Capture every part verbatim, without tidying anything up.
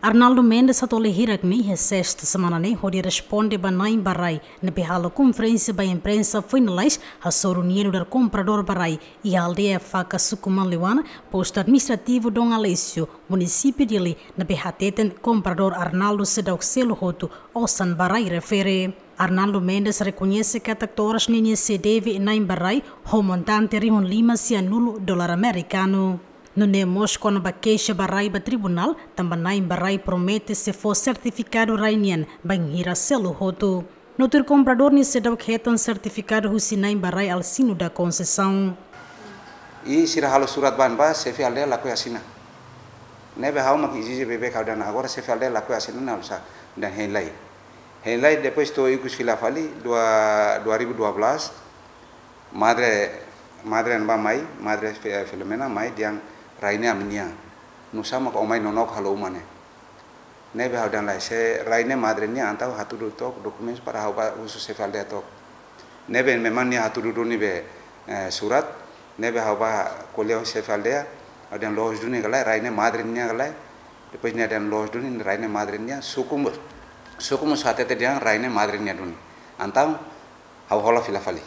Arnaldo Mendes atu halo hirak ne'e iha sesta semana ne'e hodi responde ba na'in ba rai ne'ebé halo konferénsia ba imprensa foin lalais hasoru nia nu'udar kompradór ba rai iha aldeia Faka, suku Manliwana, postu administrativu Dom Aleixo, munisípiu Dili, ne'ebé hateten kompradór Arnaldo seidauk selu hotu osan ba rai refere. Arnaldo Mendes rekoñese katak to'o oras ne'e nia sei deve na'in ba rai ho montante rihun lima sianulu dolar amerikanu. Nune'e mós kona-ba keixa ba rai ba tribunál, tanba na'in ba rai promete sei fó sertifikadu rai nian bainhira selu hotu. No tuir kompradór nia seidauk hetan sertifikadu husi na'in ba rai Alcino da Conceição. I sira halo surat ba ne'ebá, xefe aldeia lakohi asina. Ne'ebé ha'u mak ezije beibeik, ha'u dehan agora xefe aldeia lakohi asina, ne'e halo sá, dehan hein lai. Hein lai, depois to'o ikus fila fali, dua, dua ribu dua belas, madre, madre ne'ebá mai, madre Fi-, Filomena mai dehan rai ne'e ami-nian. Nusá mak ó mai nonook halo uma ne'e. Ne'ebé ha'u dehan lae, se rai ne'e madre nian, entaun hatudu took dokumentu para ha'u bá husu xefe aldeia took. Ne'ebé memang nia hatudu duni be, eh, surat, ne'ebé ha'u bá ko'alia ho xefe aldeia, ha'u dehan loos duni ka lae, rai ne'e madre nian ka lae. Depois nia dehan loos duni, rai ne'e madre nian, suku mós, suku mós hatete dehan rai ne'e madre nian duni. Entaun, ha'u hola fila fali.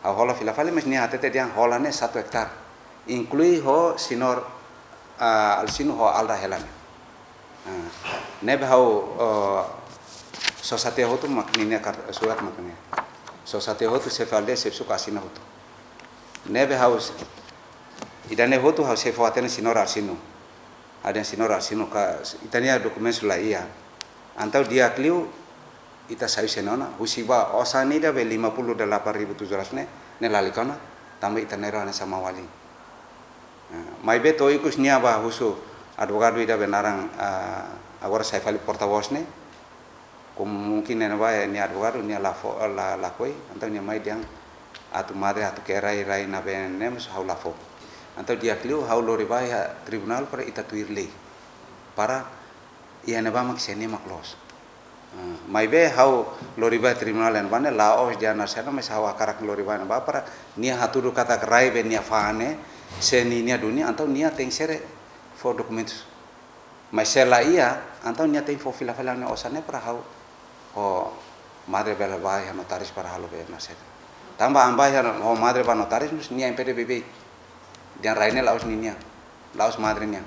Ha'u hola fila fali, mas nia hatete dehan hola ne'e satu ektár. Inklui ho señór, ah, Alcino ho Alda hela ne'e. Ah, ne'ebé ha'u, ah, sosa tiha hotu mak ninia kart-, surat mak ne'e. Sosa tiha hotu xefe aldeia, xefe suku asina hotu. Ne'ebé ha'u s-, ida-ne'e hotu ha'u sei fó hatene señór Alcino. Ha'u dehan señór Alcino ka, ita-nia dokumentu la iha. Entaun di'ak liu ita sai husi ne'e ona, husi ba osan ida be lima puluh delapan ribu tujuh ratus ne'e, ne'e lalika ona, tanba ita-nia rai hanesan maun-alin. Ah, maibé to'o ikus nia bá husu advogadu ida be naran, ah, agora sai fali portavós ne'e, kemungkinan ne'ebá nia advogadu nia la fó, la, lakohi, entaun nia mai dehan atu madre atu ke'e rai, rai ne'ebé ne'e mós ha'u la fó. Entaun di'ak liu ha'u lori bá iha tribunál para ita tuir lei. Para iha ne'ebá mak sé nia mak loos. Ah, maibé ha'u lori bá tribunál iha ne'ebá ne'e la'ós dehan Narsena, mas ha'u hakarak lori bá iha ne'ebá para nia hatudu katak rai be nia fa'an ne'e, se ninia duni, entaun nia tenke ser fó dokumentus. Mas se la iha, entaun nia tenke fó fila fali nia osan ne'e para ha'u ho madre bele bá iha notáriu para halo be Narsena. Tanba ami bá iha ho madre bá notáriu, mós nia impede beibeik. Dehan rai ne'e la'ós ninia, la'ós madre nian.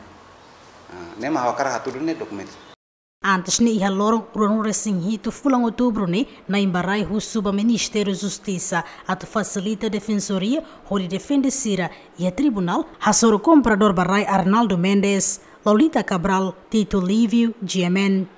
Ah, ne'e mak ha'u hakarak hatudu ne'e dokumentu. Antes ne'e iha loron ruanulu-resin-hitu fulan Outubru ne'e, na'in ba rai husu ba Ministériu Justisa atu fasilita defensoria hodi defende sira iha tribunál hasoru kompradór ba rai Arnaldo Mendes. Lolita Cabral, Tito Livio, G M N.